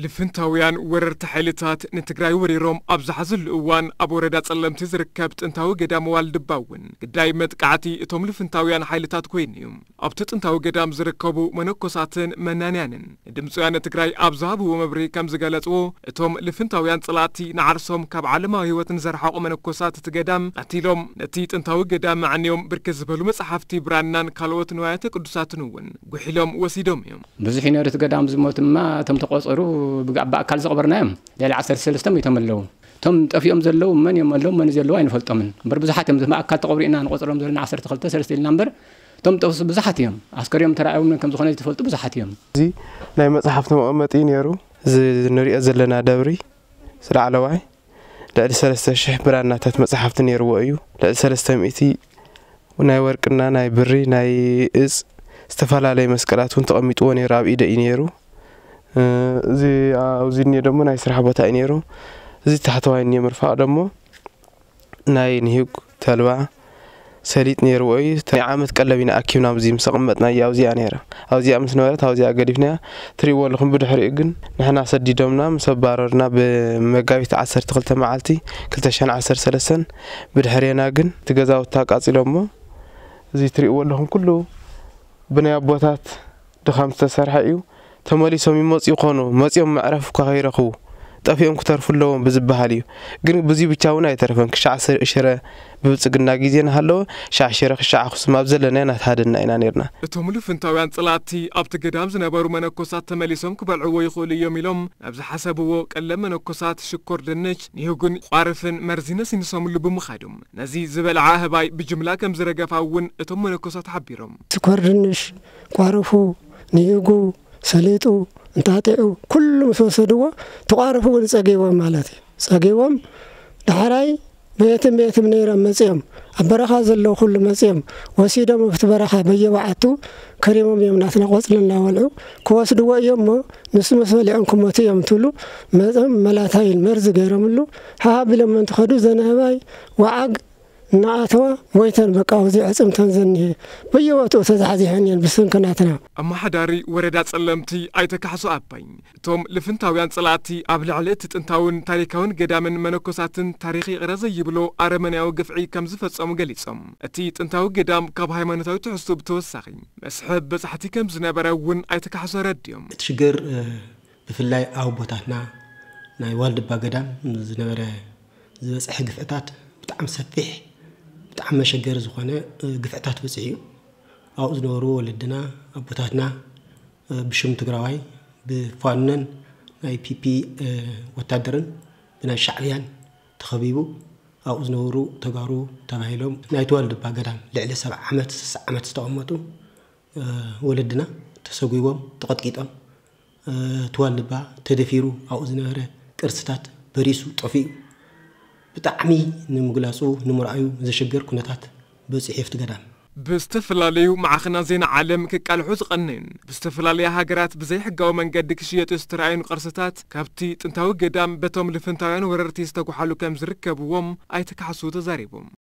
ልፍንታውያን ወረርቲ ሓይልታት ንትግራይ ወሪሮም ኣብ ዝሓዝሉ እዋን፣ ኣብ ወረዳ ጸለምቲ ዝርከብ ጥንታዊ ገዳም ዋልድባ እውን ግዳይ መጥቃዕቲ እቶም ልፍንታውያን ሓይልታት ኮይኑ እዩ። ኣብቲ ጥንታዊ ገዳም ዝርከቡ መነኮሳትን መናንያንን ንድምፂ ወያነ ትግራይ ኣብ ዝሃብዎ መብርሂ ከም ዝገለፅዎ፣ እቶም ልፍንታውያን ጸላእቲ ንዓርሶም ካብ ዓለማዊ ህይወት ንዘርሓቑ መነኮሳት እቲ ገዳም ቀቲሎም፣ ነቲ ጥንታዊ ገዳም ኣዕንዮም ብርክት ዝበሉ መጽሓፍቲ ብራናን ካልኦት ንዋያተ ቅዱሳትን እውን ጉሒሎም ወሲዶም እዮም። ብዙሕ እዩ ነይሩ እቲ ገዳም ዝሞት ድማ፣ እቶም ተቖጸሩ ብጋ-፣ ብኣካል ዝቐበርናዮም ልዕሊ ዓሰርተ ሰለስተ ሚእቶም ኣለዉ። እቶም ጠፊኦም ዘለዉ መን እዮም ኣለዉ፣ መን ዘለዉ ኣይንፈልጦምን። እምበር ብዙሓት እዮም፣ ብኣካል ተቐብሩ ኢና ንቖጽሮም ዘለና ዓሰርተ ክልተ ሰለስተ ኢልና እምበር፣ እቶም ጠፍሱ ብዙሓት እዮም። ኣስከሬኖም ተራእዮም ከም ዝኾነ ዝትፈልጡ ብዙሓት እዮም። እዚ ናይ መጽሓፍቲ መቐመጢ ነይሩ። እዚ ንሪኦ ዘለና ደብሪ፣ እዚ ላዕለዋይ፣ ልዕሊ ሰለስተ ሽሕ ብራናታት መጽሓፍቲ ነይርዎ እዩ። ልዕሊ ሰለስተ ሚእቲ ናይ ወርቅና ናይ ብሪ ናይ እጽ ዝተፈላለየ መስቀላት እውን ተቐሚጥዎ ነይሩ፣ ኣብ ኢደ እዩ ነይሩ። እ፣ እዚ ኣብዚ እኒኦ ደሞ ናይ ስራሕ ቦታ እዩ ነይሩ። እዚ ታሕተዋይ እኒኦ ምርፋቕ ደሞ ናይ ንሂግ ተልባ ሰሊጥ ነይርዎ እዩ። ናይ ዓመት ቀለብ ኢና ኣኪብና ኣብዚ ምስ ኣቐመጥናዮ ኣብዚኣ ነይራ። ኣብዚኣ ምስ ነበረት ኣብዚኣ ገዲፍናያ። ትሪእዎ ኣለኹም ብድሕሪኡ ግን ንሕና ሰዲዶምና ምስ ኣባረሩና ብመጋቢት ዓሰርተ ክልተ መዓልቲ ክልተ ሽሕን ዓሰርተ ሰለስተን ብድሕሬና ግን እቲ ገዛውቲ ኣቃጺሎሞ። እዚ ትሪእዎ ኣለኹም ኩሉ ብናይ ኣቦታት ድኻም ዝተሰርሐ እዩ። ተመሊሶም ይመጹ ይኾኑ፣ መጺኦም መዕረፊ እኳ ከይረኽቡ ጠፊኦም ክተርፉ ኣለዎም ብዝበሃል እዩ። ግን ብዙይ ብቻ እውን ኣይተረፈን። ክሻዕ ስ-፣ ሽረ ብብልጽግና ግዜ እናሃለወ፣ ሻዕ ሽረ፣ ክሻዕ ኣኽሱም ኣብ ዘለና እናተሃደና ኢና ነርና። እቶም ልፍንታውያን ጸላእቲ ኣብቲ ገዳም ዝነበሩ መነኮሳት ተመሊሶም ክበልዕዎ ይኽእሉ እዮም ኢሎም ናብ ዝሓሰብዎ ቀለብ መነኮሳት ሽኮር ድንች፣ ኒሁግን ቋርፍን መርዚ ነሲንሶምሉ ብምኻዶም፣ ነዚ ዝበልዓ ኣህባይ ብጅምላ ከም ዝረገፋ እውን እቶም መነኮሳት ሓቢሮም። ሽኮር ድንሽ፣ ቋርፉ፣ ንኢጉ፣ ሰሊጡ፣ እንጣጢዑ፣ ኩሉ ምስ ወሰድዎ፣ ተቋርፉ እውን ጸጊቦም ማለት እዩ። ጸጊቦም፣ ዳሕራይ በየትም በየትም ነይሮም መጺኦም፣ ኣብ በረኻ ዘለዉ ኩሉ መጺኦም፣ ወሲዶም ኣብቲ በረኻ በየበዓቱ ከሪሞም እዮም ናትና ቆጽሊ እናበልዑ፣ ክወስድዎ እዮም እሞ፣ ንሱ ምስ በሊዖም ክሞቱ እዮም ትብሉ፣ መጺኦም መላታይን መርዚ ገይሮምሉ፣ ሃሃ ቢሎም እንትኸዱ፣ ዘናህባይ ወዓግ እናኣተዋ፣ ሞይተን በቃ፣ ኣብዚ ዕጽምተን ዘኒሀ፣ በየቦትኡ ተዛሕዚሐን እየን ብስንኪ ናትና። ኣመሓዳሪ ወረዳ ጸለምቲ ኣይተ ካሕሱ ኣባይ፣ እቶም ልፍንታውያን ጸላእቲ ኣብ ልዕሊ እቲ ጥንታውን ታሪካውን ገዳምን መነኮሳትን ታሪኽ ይቕረ ዘይብሎ ኣረመኔያዊ ግፍዒ ከም ዝፈጸሙ ገሊጾም፣ እቲ ጥንታዊ ገዳም ካብ ሃይማኖታዊ ትሕዝቶ ብተወሳኺ መስሕብ በጻሕቲ ከም ዝነበረ እውን ኣይተ ካሕሱ ኣረዲኦም። እቲ ሽግር፣ እ፣ ብፍላይ ኣብ ኣቦታትና ናይ ዋልድባ ገዳም ዝነበረ ዝበጽሐ ግፍዕታት ብጣዕሚ ሰፊሕ፣ ብጣዕሚ መሸገሪ ዝኾነ፣ እ፣ ግፍዕታት በጺሑ እዩ። ኣብኡ ዝነበሩ ወለድና፣ ኣቦታትና፣ እ፣ ብሽም ትግራዋይ፣ ብፋኖን ናይ ፒፒ፣ እ፣ ወታደርን ብናይ ሻዕብያን ተኸቢቡ፣ ኣብኡ ዝነበሩ ተጋሩ ተባሂሎም ናይ ተዋልድባ ገዳም ልዕሊ ሰብዓ ዓመት፣ ስሳ ዓመት ዝተቐመጡ፣ እ፣ ወለድና ተሰጒቦም፣ ተቐጥቂጦም፣ እ፣ ተዋልድባ ተደፊሩ፣ ኣብኡ ዝነበረ ቅርስታት በሪሱ ጠፊኡ። ብጣዕሚ ንምግላጹ ንምርኣዩ ዘሸግር ኩነታት በጺሑ ኣብቲ ገዳም። ብዝተፈላለዩ ማዕኸናት ዜና ዓለም ክቃልሑ ዝቐነዩን ብዝተፈላለያ ሃገራት ብዘይሕጋዊ መንገዲ ክሽየጡ ዝተራእዩን ቅርስታት ካብቲ ጥንታዊ ገዳም በቶም ልፍንታውያን ወረርቲ ዝተጓሓሉ ከም ዝርከብዎም ኣይተ ካሕሱ ተዛሪቦም።